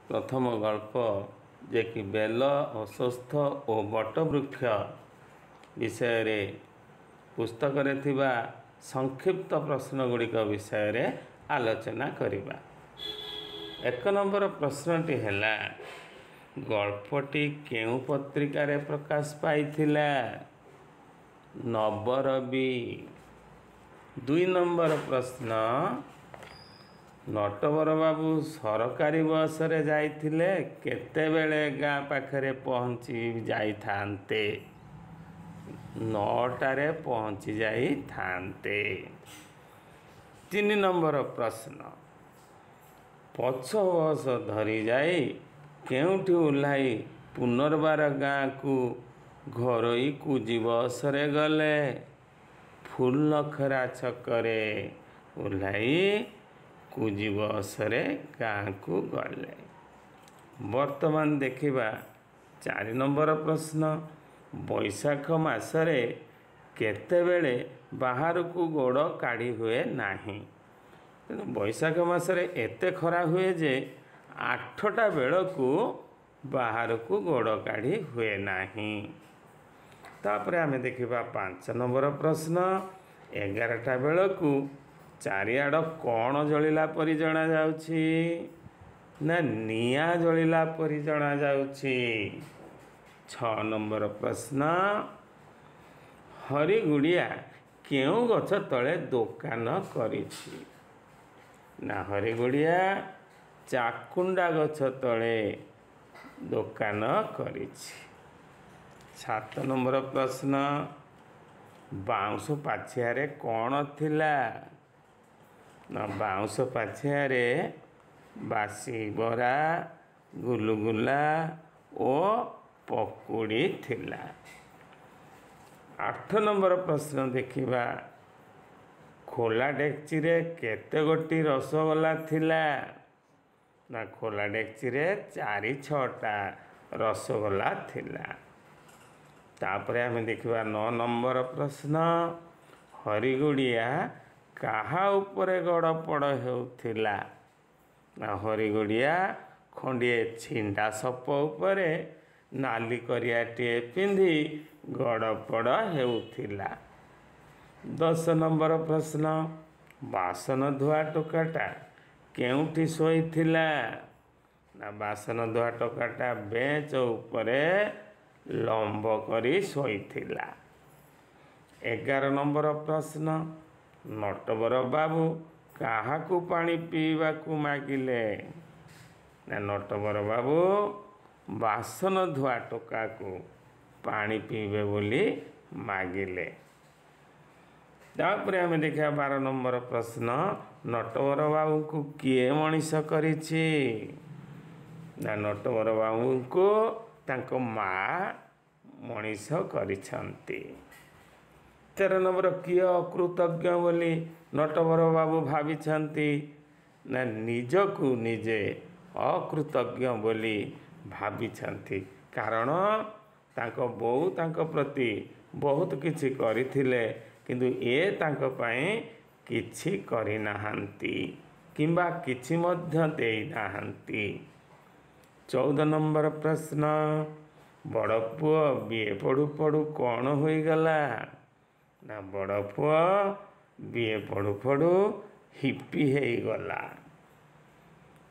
ପ୍ରଥମ ଗଳ୍ପ ଯେ କି ବେଲ, ଅଶ୍ୱତ୍ଥ ଓ ବଟବୃକ୍ଷ ବିଷୟରେ ପୁସ୍ତକରେ ଥିବା ସଂକ୍ଷିପ୍ତ ପ୍ରଶ୍ନ ଗୁଡ଼ିକ ବିଷୟରେ ଆଲୋଚନା କରିବା। 1 ନମ୍ବର ପ୍ରଶ୍ନଟି ହେଲା, ଗଳ୍ପଟି କେଉଁ ପତ୍ରିକାରେ ପ୍ରକାଶ ପାଇଥିଲା? ନବରବି। 2 ନମ୍ବର ପ୍ରଶ୍ନ, ନଟବର ବାବୁ ସରକାରୀ ବସରେ ଯାଇଥିଲେ କେତେବେଳେ ଗାଁ ପାଖରେ ପହଞ୍ଚି ଯାଇଥାନ୍ତେ? 9ଟାରେ ପହଞ୍ଚି ଯାଇଥାନ୍ତେ। 3 ନମ୍ବର ପ୍ରଶ୍ନ, ପଛ ବସ ଧରି ଯାଇ କେଉଁଠି ଓହ୍ଲାଇ ପୁନର୍ବାର ଗାଁକୁ ଘରୋଇ କୁଜି ବସରେ ଗଲେ? ଫୁଲନଖରା ଛକରେ ଓହ୍ଲାଇ କୁଜି ବସରେ ଗାଁକୁ ଗଲେ। ବର୍ତ୍ତମାନ ଦେଖିବା 4 ନମ୍ବର ପ୍ରଶ୍ନ, ବୈଶାଖ ମାସରେ କେତେବେଳେ ବାହାରକୁ ଗୋଡ଼ କାଢ଼ି ହୁଏ ନାହିଁ? ତେଣୁ ବୈଶାଖ ମାସରେ ଏତେ ଖରା ହୁଏ ଯେ 8ଟା ବେଳକୁ ବାହାରକୁ ଗୋଡ଼ କାଢ଼ି ହୁଏ ନାହିଁ। ତାପରେ ଆମେ ଦେଖିବା 5 ନମ୍ବର ପ୍ରଶ୍ନ, 11ଟା ବେଳକୁ ଚାରିଆଡ଼ କ'ଣ ଜଳିଲା ପରି ଜଣାଯାଉଛି? ନା ନିଆଁ ଜଳିଲା ପରି ଜଣାଯାଉଛି। 6 ନମ୍ବର ପ୍ରଶ୍ନ, ହରିଗୁଡ଼ିଆ କେଉଁ ଗଛ ତଳେ ଦୋକାନ କରିଛି? ନା ହରିଗୁଡ଼ିଆ ଚାକୁଣ୍ଡା ଗଛ ତଳେ ଦୋକାନ କରିଛି। 7 ନମ୍ବର ପ୍ରଶ୍ନ, ବାଉଁଶ ପାଛିଆରେ କ'ଣ ଥିଲା? ନା ବାଉଁଶ ପାଛିଆରେ ବାସି ବରା, ଗୁଲୁଗୁଲା ଓ ପକୁଡ଼ି ଥିଲା। 8 ନମ୍ବର ପ୍ରଶ୍ନ ଦେଖିବା, ଖୋଲା ଡେକ୍ଚିରେ କେତେ ଗୋଟି ରସଗୋଲା ଥିଲା? ନା ଖୋଲା ଡେକ୍ଚିରେ 4 6ଟା ରସଗୋଲା ଥିଲା। ତାପରେ ଆମେ ଦେଖିବା 9 ନମ୍ବର ପ୍ରଶ୍ନ, ହରିଗୁଡ଼ିଆ କାହା ଉପରେ ଗଡ଼ପଡ଼ ହେଉଥିଲା? ନା ହରିଗୁଡ଼ିଆ ଖଣ୍ଡିଏ ଛିଣ୍ଡା ସପ ଉପରେ ନାଲି କରିଆଟିଏ ପିନ୍ଧି ଗଡ଼ପଡ଼ ହେଉଥିଲା। 10 ନମ୍ବର ପ୍ରଶ୍ନ, ବାସନ ଧୁଆ ଟୋକାଟା କେଉଁଠି ଶୋଇଥିଲା? ନା ବାସନ ଧୁଆ ଟୋକାଟା ବେଞ୍ଚ ଉପରେ ଲମ୍ବ କରି ଶୋଇଥିଲା। 11 ନମ୍ବର ପ୍ରଶ୍ନ, ନଟବର ବାବୁ କାହାକୁ ପାଣି ପିଇବାକୁ ମାଗିଲେ? ନା ନଟବର ବାବୁ ବାସନ ଧୁଆ ଟୋକାକୁ ପାଣି ପିଇବେ ବୋଲି ମାଗିଲେ। ତାପରେ ଆମେ ଦେଖିବା 12 ନମ୍ବର ପ୍ରଶ୍ନ, ନଟବର ବାବୁଙ୍କୁ କିଏ ମଣିଷ କରିଛି? ନା ନଟବର ବାବୁଙ୍କୁ ତାଙ୍କ ମା ମଣିଷ କରିଛନ୍ତି। 13 ନମ୍ବର, କିଏ ଅକୃତଜ୍ଞ ବୋଲି ନଟବର ବାବୁ ଭାବିଛନ୍ତି? ନା ନିଜକୁ ନିଜେ ଅକୃତଜ୍ଞ ବୋଲି ଭାବିଛନ୍ତି, କାରଣ ତାଙ୍କ ବୋଉ ତାଙ୍କ ପ୍ରତି ବହୁତ କିଛି କରିଥିଲେ, କିନ୍ତୁ ଏ ତାଙ୍କ ପାଇଁ କିଛି କରିନାହାନ୍ତି କିମ୍ବା କିଛି ମଧ୍ୟ ଦେଇନାହାନ୍ତି। 14 ନମ୍ବର ପ୍ରଶ୍ନ, ବଡ଼ ପୁଅ ବିଏ ପଢ଼ୁ ପଢ଼ୁ କ'ଣ ହୋଇଗଲା? ନା ବଡ଼ ପୁଅ ବିଏ ପଢ଼ୁ ପଢ଼ୁ ହିପି ହେଇଗଲା।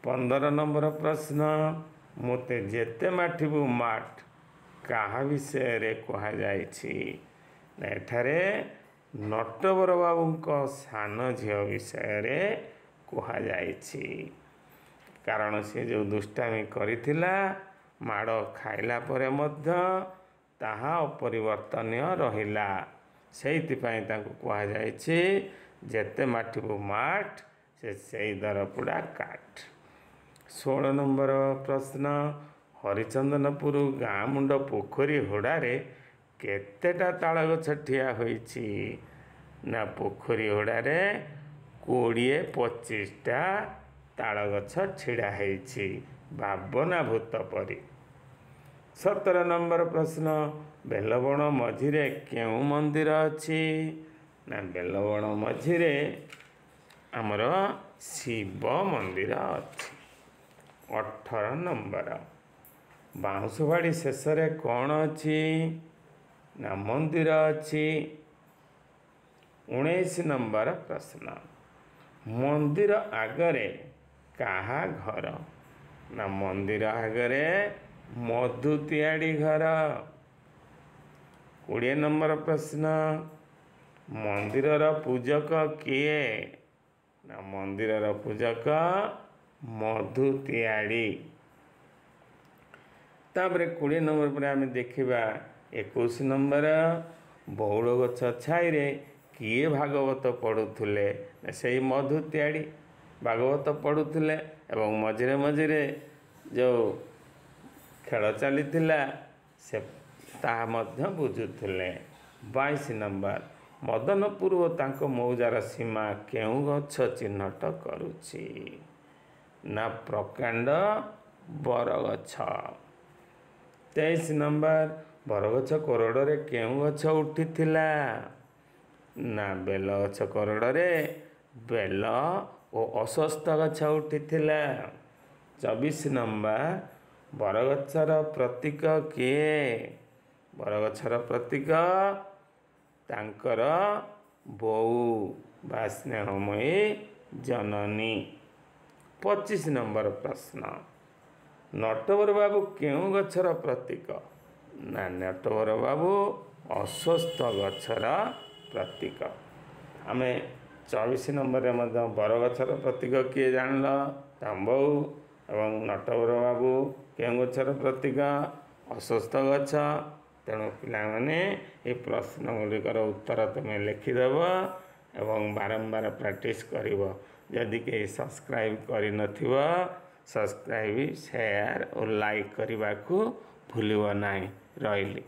15 ନମ୍ବର ପ୍ରଶ୍ନ, ମୋତେ ଯେତେ ମାଠିବୁ ମାଠ କାହା ବିଷୟରେ କୁହାଯାଇଛି? ନା ଏଠାରେ ନଟବର ବାବୁଙ୍କ ସାନ ଝିଅ ବିଷୟରେ କୁହାଯାଇଛି, କାରଣ ସେ ଯେଉଁ ଦୁଷ୍ଟାମି କରିଥିଲା ମାଡ଼ ଖାଇଲା ପରେ ମଧ୍ୟ ତାହା ଅପରିବର୍ତ୍ତନୀୟ ରହିଲା। ସେଇଥିପାଇଁ ତାଙ୍କୁ କୁହାଯାଇଛି ଯେତେ ମାଠିବୁ ମାଠ ସେ ସେଇ ଦରପୋଡ଼ା କାଠ। 16 ନମ୍ବର ପ୍ରଶ୍ନ, ହରିଚନ୍ଦନପୁର ଗାଁ ମୁଣ୍ଡ ପୋଖରୀ ହୁଡ଼ାରେ କେତେଟା ତାଳଗଛ ଠିଆ ହୋଇଛି? ନା ପୋଖରୀ ହୁଡ଼ାରେ 20 25ଟା ତାଳଗଛ ଛିଡ଼ା ହେଇଛି ଭାବନା ଭୂତ ପରି। 17 ନମ୍ବର ପ୍ରଶ୍ନ, ବେଲବଣ ମଝିରେ କେଉଁ ମନ୍ଦିର ଅଛି? ନା ବେଲବଣ ମଝିରେ ଆମର ଶିବ ମନ୍ଦିର ଅଛି। 18 ନମ୍ବର, ବାଉଁଶବାଡ଼ି ଶେଷରେ କ'ଣ ଅଛି? ନା ମନ୍ଦିର ଅଛି। 19 ନମ୍ବର ପ୍ରଶ୍ନ, ମନ୍ଦିର ଆଗରେ କାହା ଘର? ନା ମନ୍ଦିର ଆଗରେ ମଧୁ ତିଆଡ଼ି ଘର। 20 ନମ୍ବର ପ୍ରଶ୍ନ, ମନ୍ଦିରର ପୂଜକ କିଏ? ନା ମନ୍ଦିରର ପୂଜକ ମଧୁ ତିଆଡ଼ି। ତାପରେ 20 ନମ୍ବର ପରେ ଆମେ ଦେଖିବା 21 ନମ୍ବର, ବଉଳ ଗଛ ଛାଇରେ କିଏ ଭାଗବତ ପଢ଼ୁଥିଲେ? ସେଇ ମଧୁ ତିଆଡ଼ି ଭାଗବତ ପଢ଼ୁଥିଲେ ଏବଂ ମଝିରେ ମଝିରେ ଯେଉଁ ଖେଳ ଚାଲିଥିଲା ସେ ତାହା ମଧ୍ୟ ବୁଝୁଥିଲେ। 22 ନମ୍ବର, ମଦନପୁର ଓ ତାଙ୍କ ମୌଜାର ସୀମା କେଉଁ ଗଛ ଚିହ୍ନଟ କରୁଛି? ନା ପ୍ରକାଣ୍ଡ ବରଗଛ। 23 ନମ୍ବର, ବରଗଛ କୋରଡ଼ରେ କେଉଁ ଗଛ ଉଠିଥିଲା? ନା ବେଲଗଛ କୋରଡ଼ରେ ବେଲ ଓ ଅଶ୍ୱସ୍ଥ ଗଛ ଉଠିଥିଲା। 24 ନମ୍ବର, ବରଗଛର ପ୍ରତୀକ କିଏ? ବରଗଛର ପ୍ରତୀକ ତାଙ୍କର ବୋଉ ବା ସ୍ନେହମୟୀ ଜନନୀ। 25 ନମ୍ବର ପ୍ରଶ୍ନ, ନଟବର ବାବୁ କେଉଁ ଗଛର ପ୍ରତୀକ? ନା ନଟବର ବାବୁ ଅଶ୍ୱସ୍ଥ ଗଛର ପ୍ରତୀକ। ଆମେ 24 ନମ୍ବରରେ ମଧ୍ୟ ବରଗଛର ପ୍ରତୀକ କିଏ ଜାଣିଲ? ତାମ୍ବଉ। ଏବଂ ନଟବର ବାବୁ କେଉଁ ଗଛର ପ୍ରତୀକ? ଅଶ୍ୱସ୍ଥ ଗଛ। ତେଣୁ ପିଲାମାନେ ଏ ପ୍ରଶ୍ନ ଗୁଡ଼ିକର ଉତ୍ତର ତୁମେ ଲେଖିଦେବ ଏବଂ ବାରମ୍ବାର ପ୍ରାକ୍ଟିସ୍ କରିବ। ଯଦି କେହି ସବସ୍କ୍ରାଇବ୍ କରିନଥିବ, ସବସ୍କ୍ରାଇବ୍, ସେୟାର ଓ ଲାଇକ୍ କରିବାକୁ ଭୁଲିବ ନାହିଁ। ରହିଲି।